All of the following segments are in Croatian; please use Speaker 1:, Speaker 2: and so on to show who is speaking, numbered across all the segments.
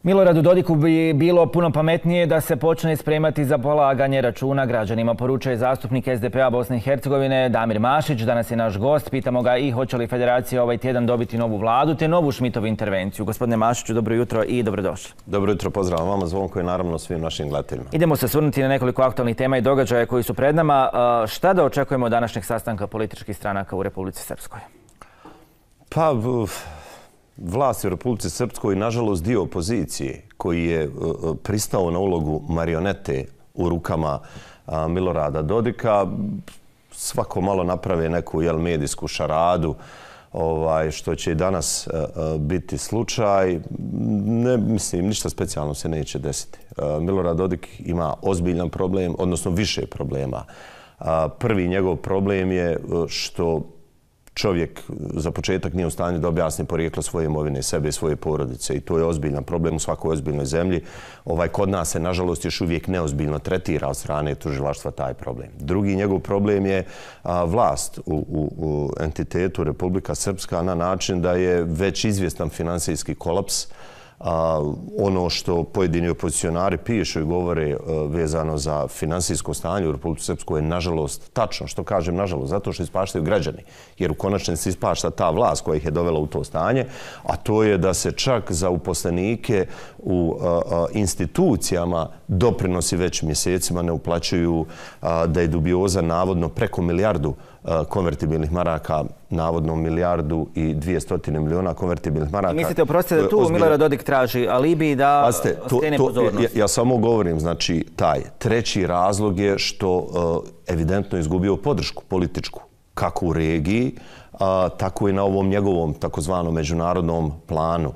Speaker 1: Miloradu Dodiku bi bilo puno pametnije da se počne spremati za polaganje računa građanima, poručuje zastupnik SDP-a Bosne i Hercegovine Damir Mašić. Danas je naš gost. Pitamo ga i hoće li federacija ovaj tjedan dobiti novu vladu te novu Šmitovu intervenciju. Gospodine Mašiću, dobro jutro i dobrodošli.
Speaker 2: Dobro jutro, pozdrav vama, Zvonko i naravno svim našim gledateljima.
Speaker 1: Idemo se osvrnuti na nekoliko aktualnih tema i događaja koji su pred nama. Šta da očekujemo od današnjeg sastanka političkih stranaka u Republici Srpskoj?
Speaker 2: Pa, vlast u Republici Srpskoj, nažalost dio opozicije koji je pristao na ulogu marionete u rukama Milorada Dodika, svako malo naprave neku medijsku šaradu, što će i danas biti slučaj. Ne, mislim, ništa specijalno se neće desiti. Milorad Dodik ima ozbiljan problem, odnosno više problema. Prvi njegov problem je što čovjek za početak nije u stanju da objasni porijeklo svoje imovine, sebe i svoje porodice, i to je ozbiljan problem u svakoj ozbiljnoj zemlji. Kod nas se, nažalost, još uvijek neozbiljno tretira od strane tužilaštva taj problem. Drugi njegov problem je vlast u entitetu Republika Srpska na način da je već izvjestan finansijski kolaps. Ono što pojedini opozicionari pišu i govore vezano za finansijsko stanje u Republici Srpskoj je nažalost tačno. Što kažem nažalost? Zato što ispaštaju građani. Jer u konačnici ispašta ta vlast koja ih je dovela u to stanje, a to je da se čak za uposlenike u institucijama doprinosi već mjesecima ne uplaćuju, da je dubioza navodno preko milijardu konvertibilnih maraka, navodno milijardu i 200 miliona konvertibilnih maraka.
Speaker 1: Mislite, oprostite, da tu Milorad Dodik traži alibi da skrene pozornost?
Speaker 2: Ja samo govorim, znači, taj treći razlog je što evidentno izgubio podršku političku, kako u regiji, tako i na ovom njegovom takozvanom međunarodnom planu.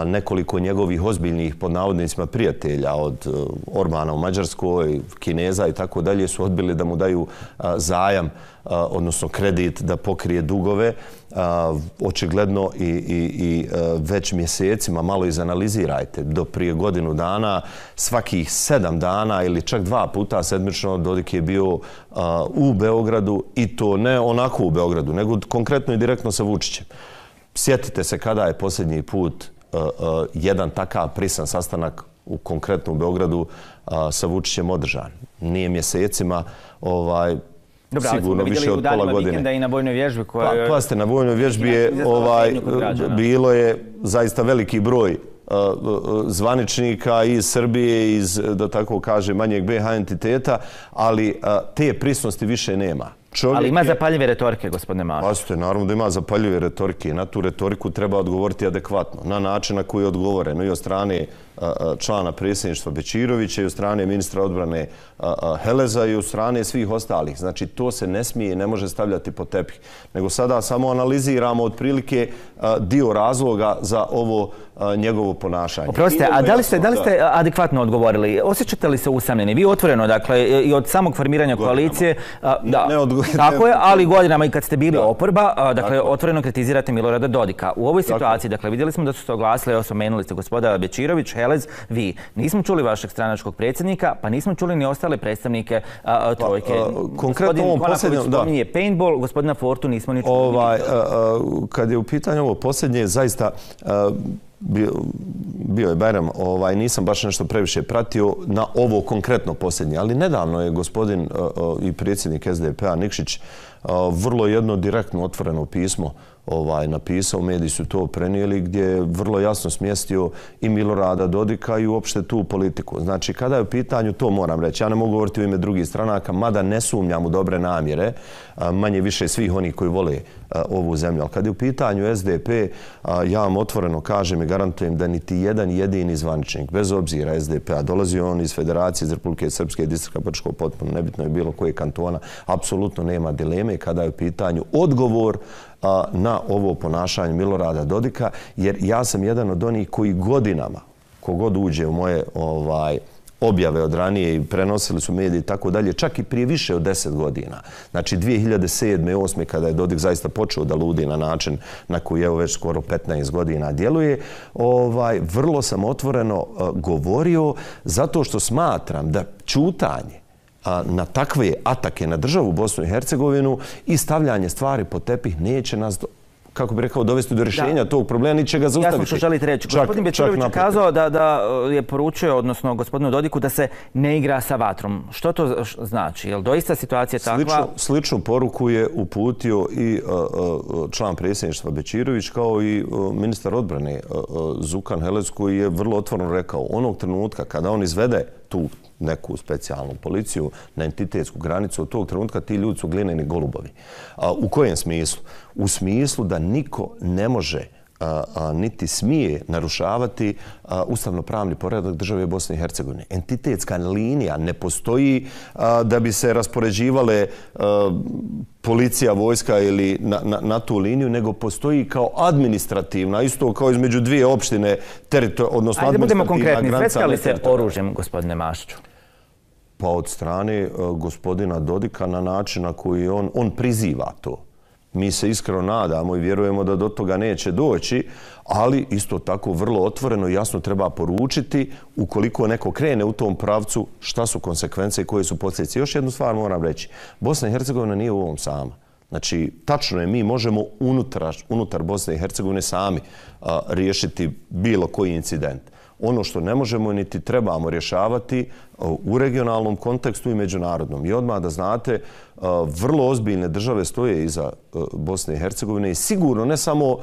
Speaker 2: Nekoliko njegovih ozbiljnih, pod navodnicima, prijatelja od Orbana u Mađarskoj, Kineza i tako dalje su odbili da mu daju zajam, odnosno kredit da pokrije dugove. Očigledno i već mjesecima, malo izanalizirajte, do prije godinu dana, svakih 7 dana ili čak 2 puta sedmično Dodik je bio u Beogradu, i to ne onako u Beogradu, nego konkretno i direktno sa Vučićem. Sjetite se kada je posljednji put jedan takav prisan sastanak konkretno u Beogradu sa Vučićem održan. Nije mjesecima, sigurno više od pola godine.
Speaker 1: I na vojnoj vježbi
Speaker 2: Pazite, na vojnoj vježbi je bilo je zaista veliki broj zvaničnika iz Srbije, iz, da tako kaže, manjeg BiH entiteta, ali te prisnosti više nema.
Speaker 1: Ali ima zapaljive retorike, gospodine Mašić.
Speaker 2: Pazite, naravno da ima zapaljive retorike i na tu retoriku treba odgovoriti adekvatno. Na način na koji je odgovoreno i od strane člana predsjedništva Bećirovića i od strane ministra odbrane Heleza i od strane svih ostalih. Znači, to se ne smije i ne može stavljati pod tepih. Nego sada samo analiziramo otprilike dio razloga za ovo njegovo ponašanje.
Speaker 1: Oprostite, a da li ste adekvatno odgovorili? Osjećate li se usamljeni? Vi otvoreno, dakle, i od samog formiranja koalicije, tako je, ali godinama i kad ste bili oporba, dakle, otvoreno kritizirate Milorada Dodika. U ovoj situaciji, dakle, vidjeli smo da su se oglasili, spomenuli ste gospoda Bećirović, Helez, vi. Nismo čuli vašeg stranačkog predsjednika, pa nismo čuli ni ostale predstavnike trojke.
Speaker 2: Konkretno ovom posljednjem, da.
Speaker 1: Spominje paintball, gospodina Fortu nismo ni čuli.
Speaker 2: Kad je u pitanju ovo posljednje, zaista bio je Bajram, nisam baš nešto previše pratio na ovo konkretno posljednje, ali nedavno je gospodin i predsjednik SDP-a Nikšić vrlo jedno direktno otvoreno pismo napisao, mediji su to prenijeli, gdje je vrlo jasno smjestio i Milorada Dodika i uopšte tu politiku. Znači, kada je u pitanju, to moram reći, ja ne mogu govoriti u ime drugih stranaka, mada ne sumnjam u dobre namjere, manje više svih onih koji vole ovu zemlju. Ali kad je u pitanju SDP, ja vam otvoreno kažem i garantujem da niti jedan jedini zvaničnik, bez obzira SDP-a, dolazio on iz Federacije, iz Republike Srpske, distrikta Brčkog, potpuno nebitno je bilo koje kantona, apsolutno nema dileme kada je u pitanju odgovor na ovo ponašanje Milorada Dodika, jer ja sam jedan od onih koji godinama, kogod uđe u moje objave od ranije i prenosili su mediji i tako dalje, čak i prije više od 10 godina. Znači 2007. 2008. kada je Dodik zaista počeo da ludi na način na koji evo već skoro 15 godina djeluje, vrlo sam otvoreno govorio zato što smatram da ćutanje na takve atake na državu Bosnu i Hercegovinu i stavljanje stvari pod tepih neće nas kako bi rekao, dovesti do rješenja tog problema, ni će ga zaustaviti.
Speaker 1: Jasno što želite reći. Gospodin Bečirović je kazao da je poručio, odnosno gospodinu Dodiku, da se ne igra sa vatrom. Što to znači? Je li doista situacija takva?
Speaker 2: Sličnu poruku je uputio i član predsjedništva Bečirović, kao i ministar odbrane Zukan Helec, koji je vrlo otvoreno rekao, onog trenutka kada on izvede tu neku specijalnu policiju na entitetsku granicu, od tog trenutka ti ljudi su glineni golubovi. U kojem smislu? U smislu da niko ne može niti smije narušavati ustavno-pravni poredak države Bosne i Hercegovine. Entitetska linija ne postoji da bi se raspoređivale policija, vojska ili na tu liniju, nego postoji kao administrativna, isto kao između dvije opštine, odnosno administrativna granica.
Speaker 1: Ajde, budemo konkretni. Svetkali se oružjem, gospodine Mašiću?
Speaker 2: Pa od strane gospodina Dodika na način na koji on priziva to. Mi se iskreno nadamo i vjerujemo da do toga neće doći, ali isto tako vrlo otvoreno i jasno treba poručiti ukoliko neko krene u tom pravcu šta su konsekvence i koje su posljedice. Još jednu stvar moram reći. Bosna i Hercegovina nije u ovom sama. Znači, tačno je, mi možemo unutar Bosne i Hercegovine sami riješiti bilo koji incident. Ono što ne možemo niti trebamo rješavati u regionalnom kontekstu i međunarodnom. I odmah da znate, vrlo ozbiljne države stoje iza Bosne i Hercegovine i sigurno ne samo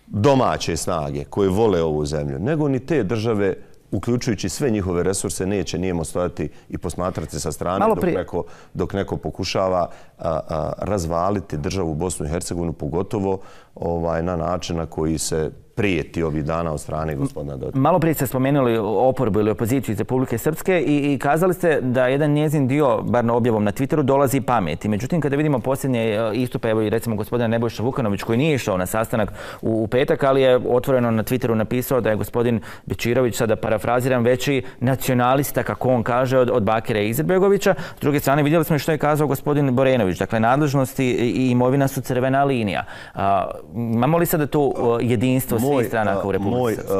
Speaker 2: domaće snage koje vole ovu zemlju, nego ni te države, uključujući sve njihove resurse, neće nijemo stojati i posmatrati sa strane dok neko pokušava razvaliti državu Bosnu i Hercegovinu, pogotovo na način na koji se prijeti ovih dana od strane gospodina Dodika.
Speaker 1: Malo prije ste spomenuli oporbu ili opoziciju iz Republike Srpske i kazali ste da jedan njezin dio, bar na objavom na Twitteru, dolazi pameti. Međutim, kada vidimo posljednje istupe, evo i recimo gospodina Nebojša Vukanović, koji nije išao na sastanak u petak, ali je otvoreno na Twitteru napisao da je gospodin Bečirović, sada parafraziram, veći nacionalista, kako on kaže, od Bakira Izetbegovića. S druge strane, vidjeli smo i što je kazao gospodin Borenović. Dakle, nadležnosti i imovina su crvena linija. Imamo li sada tu jedinstvo svih stranaka u Republici Srpskoj?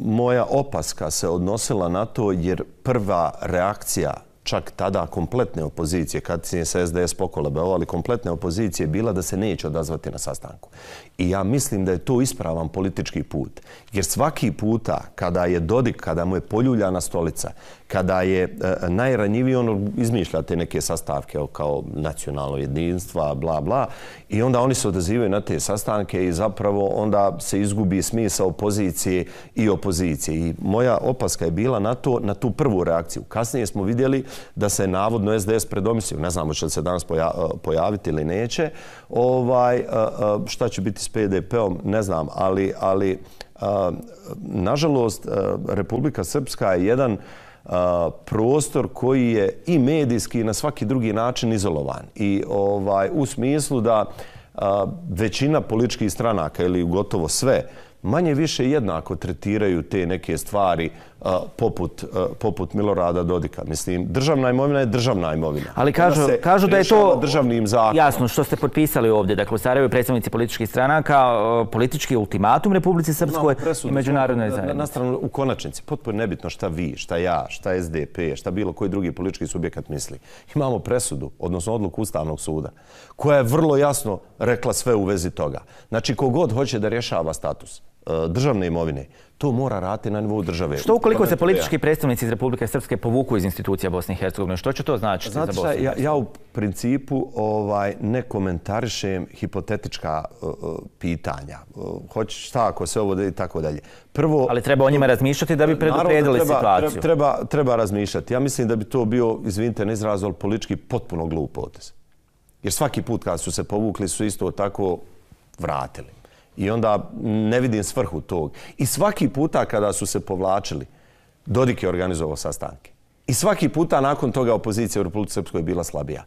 Speaker 2: Moja opaska se odnosila na to jer prva reakcija čak tada kompletne opozicije, kad se SDS pokolebao, ali kompletne opozicije bila da se neće odazvati na sastanku. I ja mislim da je to ispravan politički put. Jer svaki puta kada je Dodik, kada mu je poljuljana stolica, kada je najranjiviji, on izmišlja te neke sastavke kao nacionalno jedinstva, bla, bla, i onda oni se odazivaju na te sastanke i zapravo onda se izgubi smisao pozicije i opozicije. I moja opaska je bila na tu prvu reakciju. Kasnije smo vidjeli da se navodno SDS predomislio. Ne znamo će li se danas pojaviti ili neće. Šta će biti s PDP-om, ne znam, ali nažalost Republika Srpska je jedan prostor koji je i medijski i na svaki drugi način izolovan. I u smislu da većina političkih stranaka ili gotovo sve manje više jednako tretiraju te neke stvari poput Milorada Dodika. Mislim, državna imovina je državna imovina.
Speaker 1: Ali kažu da je to državnim zakonom. Jasno, što ste potpisali ovdje. Dakle, u Sarajevu predstavnici političkih stranaka, politički ultimatum Republici Srpskoj i međunarodnoj zajednici.
Speaker 2: Na stranu, u konačnici, potpuno nebitno šta vi, šta ja, šta SDP, šta bilo koji drugi politički subjekat misli. Imamo presudu, odnosno odluku Ustavnog suda, koja je vrlo jasno rekla sve u vezi toga. Znači, kogod hoće da rješava status državne imovine, to mora raditi na nivou države.
Speaker 1: Što ukoliko se politički predstavnici iz Republike Srpske povuku iz institucija Bosne i Hercegovine? Što će to značiti za Bosnu i Hercegovinu?
Speaker 2: Ja u principu ne komentarišem hipotetička pitanja. Hoće šta ako se ovo i tako dalje.
Speaker 1: Ali treba o njima razmišljati da bi predupredili situaciju.
Speaker 2: Treba razmišljati. Ja mislim da bi to bio, izvinite na izrazu, ali politički potpuno glup potez. Jer svaki put kad su se povukli su isto tako vratili. I onda ne vidim svrhu tog. I svaki puta kada su se povlačili, Dodik je organizovao sastanke. I svaki puta nakon toga opozicija u Republici Srpskoj je bila slabija.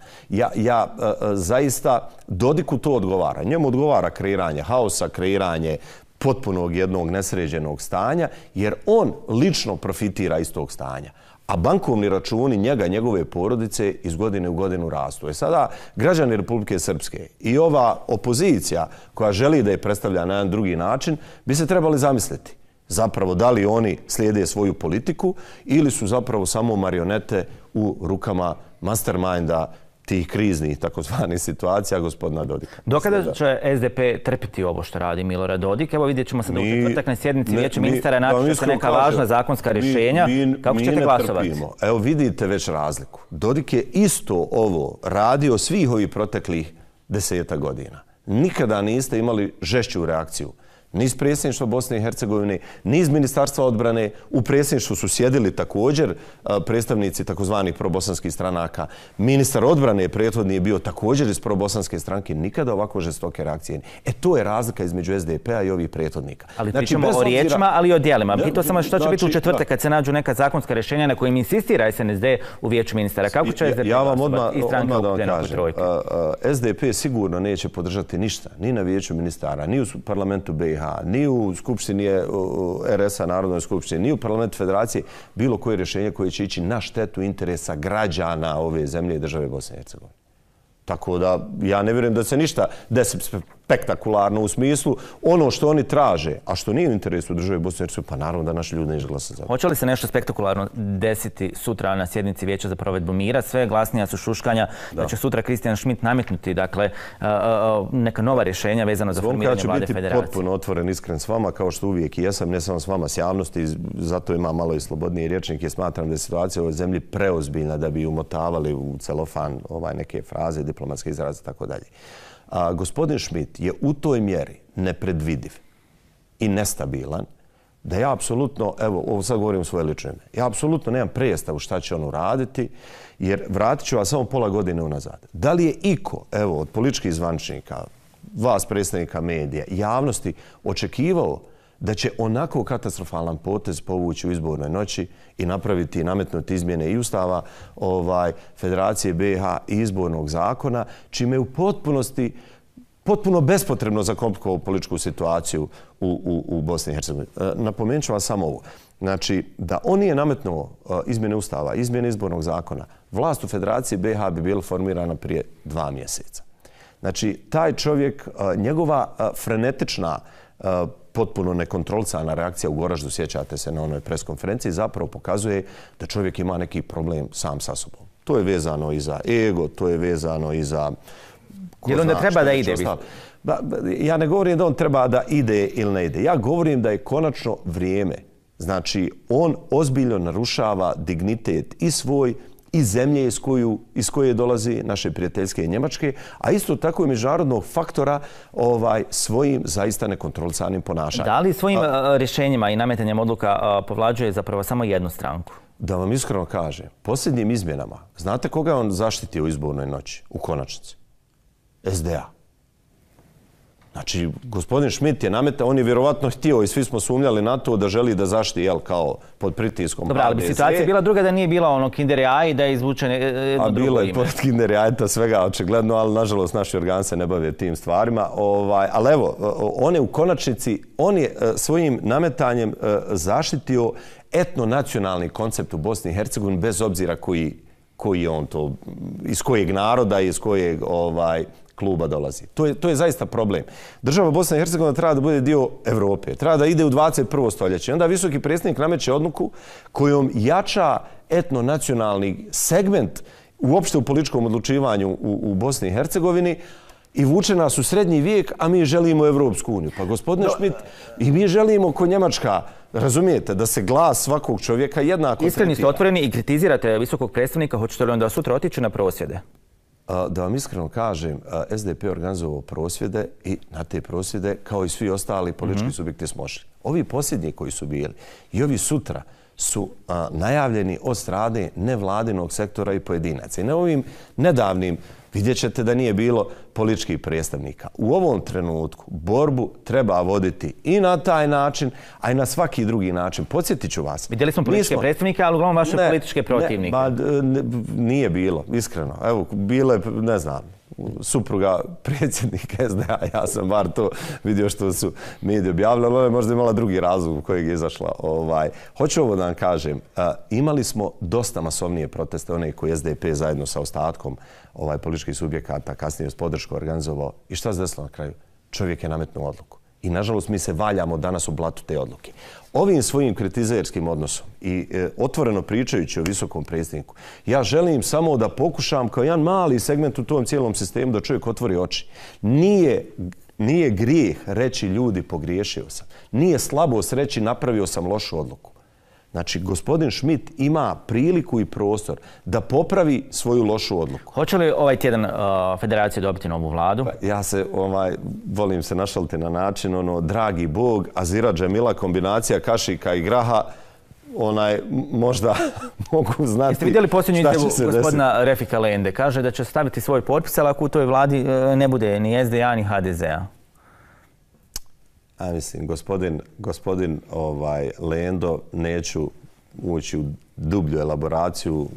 Speaker 2: Ja zaista Dodiku to odgovara. Njemu odgovara kreiranje haosa, kreiranje potpunog jednog nesređenog stanja, jer on lično profitira iz tog stanja. A bankovni računi njega, njegove porodice iz godine u godinu rastu. Sada građani Republike Srpske i ova opozicija koja želi da je predstavlja na jedan drugi način bi se trebali zamisliti zapravo da li oni slijede svoju politiku ili su zapravo samo marionete u rukama masterminda tih kriznih takozvanih situacija gospodina Dodika.
Speaker 1: Do kada će SDP trpiti ovo što radi Milorad Dodik? Evo vidjet ćemo sad u četvrtak na sjednici Vijeća ministara naći se neka važna zakonska rješenja. Kako ćete glasovati?
Speaker 2: Evo vidite već razliku. Dodik je isto ovo radio svih ovih proteklih 10 godina. Nikada niste imali žešću reakciju. Ni iz predsjedništva Bosne i Hercegovine, ni iz Ministarstva odbrane. U predsjedništvu su sjedili također predstavnici takozvanih probosanskih stranaka. Ministar odbrane prethodni je bio također iz probosanske stranke. Nikada ovako žestoke reakcije. To je razlika između SDP-a i ovih prethodnika.
Speaker 1: Ali pričamo o riječima, ali i o djelima. Pitao sam vas što će biti u četvrtak kad se nađu neka zakonska rješenja na kojim insistira SNSD u Vijeću ministara. Kako će SDP glasovati i stranke okupljene oko trojke?
Speaker 2: SDP sigurno neće podržati ništa. Ni na Vijeću ministara, ni u parlamentu BiH, ni u Skupštini RS-a, Narodnoj skupštini, ni u parlamentu Federacije, bilo koje rješenje koje će ići na štetu interesa građana ove zemlje i države Bosne i Hercegovine. Tako da ja ne vjerujem da se ništa desi spektakularno u smislu ono što oni traže, a što nije u interesu države Bosne i Hercegovine, pa naravno da naši ljudi neće glasati za to.
Speaker 1: Hoće li se nešto spektakularno desiti sutra na sjednici Vijeća za provedbu mira? Sve glasnija su šuškanja da će sutra Christian Schmidt nametnuti neka nova rješenja vezano za formiranje vlade federacije.
Speaker 2: Ja ću biti potpuno otvoren, iskren s vama, kao što uvijek i jesam, ne samo s vama, s javnosti, zato imam malo i slobodniji rječnik jer smatram da je situacija u ovoj zemlji preozbiljna da bi umotavali u celofan neke fraze, diplomatske izraze i tako dalje. Gospodin Schmidt je u toj mjeri nepredvidiv i nestabilan da ja apsolutno, evo, ovo sad govorim u svoje lično ime, ja apsolutno nemam predstavu šta će on uraditi, jer vratit ću vas samo pola godine unazad. Da li je iko, evo, od političkih zvaničnika, vas predstavnika medija, javnosti, očekivao da će onako katastrofalan potez povući u izbornoj noći i napraviti i nametnuti izmjene i Ustava Federacije BiH i izbornog zakona, čime je u potpunosti potpuno bespotrebno zakomplikovao političku situaciju u Bosni i Hercegovini. Napomenut ću vas samo ovo. Znači, da on nije nametnuo izmjene Ustava, izmjene izbornog zakona, vlast u Federaciji BiH bi bila formirana prije 2 mjeseca. Znači, taj čovjek, njegova frenetična potpuno nekontrolisana reakcija u Goraždu, sjećate se na onoj preskonferenciji, zapravo pokazuje da čovjek ima neki problem sam sa sobom. To je vezano i za ego, to je vezano i za...
Speaker 1: Jer onda treba da ide?
Speaker 2: Ja ne govorim da on treba da ide ili ne ide. Ja govorim da je konačno vrijeme. Znači, on ozbiljno narušava dignitet i svoj i zemlje iz koje dolazi naše prijateljske Njemačke, a isto tako i međunarodnog faktora svojim zaista nekontrolisanim ponašanjem.
Speaker 1: Da li svojim rješenjima i nametanjem odluka povlađuje zapravo samo jednu stranku?
Speaker 2: Da vam iskreno kažem, posljednjim izmjenama, znate koga je on zaštitio u izbornoj noći, u konačnici? SDA. Znači, gospodin Schmidt je nametao, on je vjerovatno htio i svi smo sumnjali na to da želi da zaštiti, kao pod pritiskom.
Speaker 1: Dobro, ali bi situacija bila druga da nije bila ono Kinder Jaj i da je izvučen jedno drugo ime.
Speaker 2: Bilo je pored Kinder Jajeta svega očigledno, ali nažalost naši organi se ne bave tim stvarima. Ali evo, on je u konačnici, on je svojim nametanjem zaštitio etnonacionalni koncept u Bosni i Hercegovini bez obzira koji je on to, iz kojeg naroda i iz kojeg kluba dolazi. To je zaista problem. Država Bosna i Hercegovina treba da bude dio Evrope, treba da ide u 21. stoljeće. Onda visoki predsjednik nameće odluku kojom jača etnonacionalni segment uopšte u političkom odlučivanju u Bosni i Hercegovini i vuče nas u srednji vijek, a mi želimo Evropsku uniju. Pa gospodine Schmidt, i mi želimo ko Njemačka, razumijete, da se glas svakog čovjeka jednako tretira.
Speaker 1: Iskreni ste otvoreni i kritizirate visokog predstavnika, hoćete li onda sutra otići na prosvjede?
Speaker 2: Da vam iskreno kažem, SDP je organizovao prosvjede i na te prosvjede, kao i svi ostali politički subjekti, smo šli. Ovi posljednji koji su bili i ovi sutra su najavljeni od strane nevladinog sektora i pojedinaca. I na ovim nedavnim vidjet ćete da nije bilo političkih predstavnika. U ovom trenutku borbu treba voditi i na taj način, a i na svaki drugi način. Podsjetit ću vas.
Speaker 1: Vidjeli smo političke predstavnike, ali uglavnom vaše političke protivnike.
Speaker 2: Nije bilo, iskreno. Evo, bile, ne znam, supruga predsjednika SDA, ja sam bar to vidio što su mediji objavili, ali možda imala drugi razlog u kojeg je izašla. Hoću ovo da vam kažem, imali smo dosta masovnije proteste, one koji SDP zajedno sa ostatkom političkih subjekata kasnije s podrškom organizovao. I šta se desilo na kraju? Čovjek je nametnuo odluku. I nažalost mi se valjamo danas u blatu te odluke. Ovim svojim kritizerskim odnosom i otvoreno pričajući o visokom predsjedniku, ja želim samo da pokušam kao jedan mali segment u tom cijelom sistemu da čovjek otvori oči. Nije grijeh reći ljudi pogriješio sam. Nije slabost reći napravio sam lošu odluku. Znači, gospodin Schmidt ima priliku i prostor da popravi svoju lošu odluku.
Speaker 1: Hoće li ovaj tjedan federacija dobiti novu vladu?
Speaker 2: Ja se, volim se našaliti na način, dragi Bog, Azira Džemila, kombinacija kašika i graha, možda mogu znati.
Speaker 1: Jeste vidjeli posljednju izjavu gospodina Refika Lende? Kaže da će staviti svoj potpis, ali ako u toj vladi ne bude ni SDA ni HDZ-a.
Speaker 2: Mislim, gospodin Lendo, neću ući u dublju elaboraciju.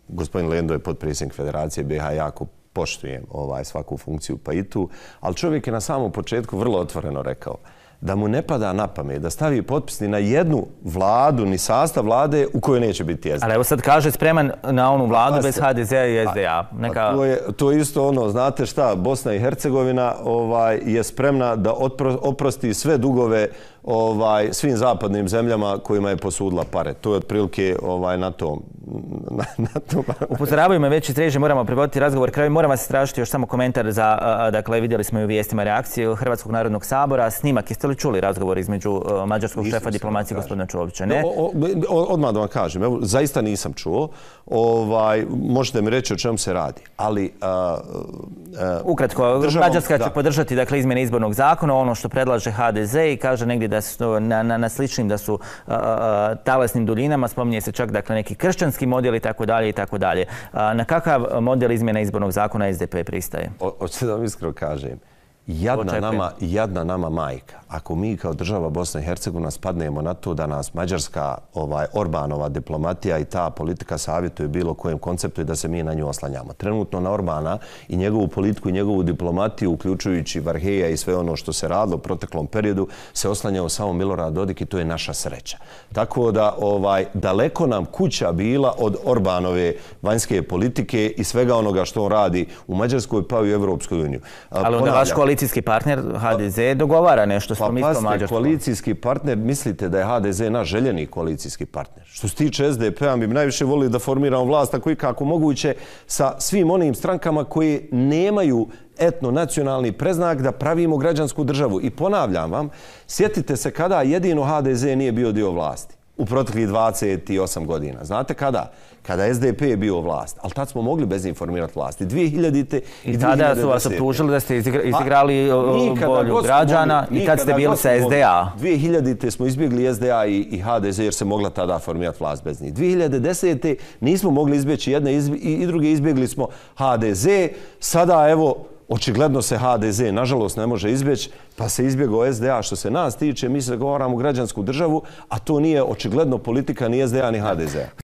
Speaker 2: Gospodin Lendo je potpredsjednik Federacije BiH, jako poštujem svaku funkciju pa i tu, ali čovjek je na samom početku vrlo otvoreno rekao da mu ne pada na pamet da stavi potpis ni na jednu vladu, ni sastav vlade u kojoj neće biti SDA.
Speaker 1: Ali evo sad kaže spreman na onu vladu bez HDZ-a i SDA.
Speaker 2: To je isto znate šta, Bosna i Hercegovina je spremna da oprosti sve dugove svim zapadnim zemljama kojima je posudila pare. To je otprilike na tom.
Speaker 1: Upozoravaju me već iz režije, moramo privoditi razgovor kraju. Moram vas tražiti još samo komentar za, dakle, vidjeli smo i u vijestima reakcije Hrvatskog narodnog sabora. Snimak, jeste li čuli razgovor između mađarskog šefa diplomacije gospodina Čovića? Ne?
Speaker 2: Odmah da vam kažem, evo, zaista nisam čuo. Možete mi reći o čemu se radi. Ali
Speaker 1: ukratko, Mađarska će podržati, dakle, izmjene izbornog zakona, ono što predlaže HDZ i kaže negdje da su na sličnim, da su talasnim duljinama, spominje se čak, dakle, neki kršćanski model i tako dalje i tako dalje. Na kakav model izmjena izbornog zakona SDP pristaje?
Speaker 2: Hoćete da vam iskreno kažem, jadna nama majka. Ako mi kao država Bosna i Hercegovina spadnemo na to da nas mađarska Orbanova diplomatija i ta politika savjetuje bilo kojem konceptu i da se mi na nju oslanjamo. Trenutno na Orbana i njegovu politiku i njegovu diplomatiju, uključujući Varheja i sve ono što se radilo u proteklom periodu, se oslanjao samo Milorad Dodik i to je naša sreća. Tako da daleko nam kuća bila od Orbanove vanjske politike i svega onoga što on radi u Mađarskoj pa i u Evropskoj uniji.
Speaker 1: Ali onda vaš koalicijski partner HDZ dogovara nešto.
Speaker 2: Pa pazite, koalicijski partner, mislite da je HDZ naš željeni koalicijski partner. Što se tiče SDP-a, mi bi najviše volili da formiramo vlast tako i kako moguće sa svim onim strankama koji nemaju etno-nacionalni preznak da pravimo građansku državu. I ponavljam vam, sjetite se kada jedino HDZ nije bio dio vlasti. U proteklih 28 godina. Znate kada? Kada SDP je bio vlast. Ali tad smo mogli bezinformirati vlasti. 2000.
Speaker 1: I tada su vas optužili da ste izigrali volju građana i tad ste bili sa SDA.
Speaker 2: 2000. smo izbjegli SDA i HDZ jer se mogla tada formirati vlast bez njih. 2010. nismo mogli izbjeći jedne i druge, izbjegli smo HDZ. Sada evo, očigledno se HDZ, nažalost, ne može izbjeći, pa se izbjegao SDA. Što se nas tiče, mi se zagovaramo građansku državu, a to nije očigledno politika ni SDA ni HDZ.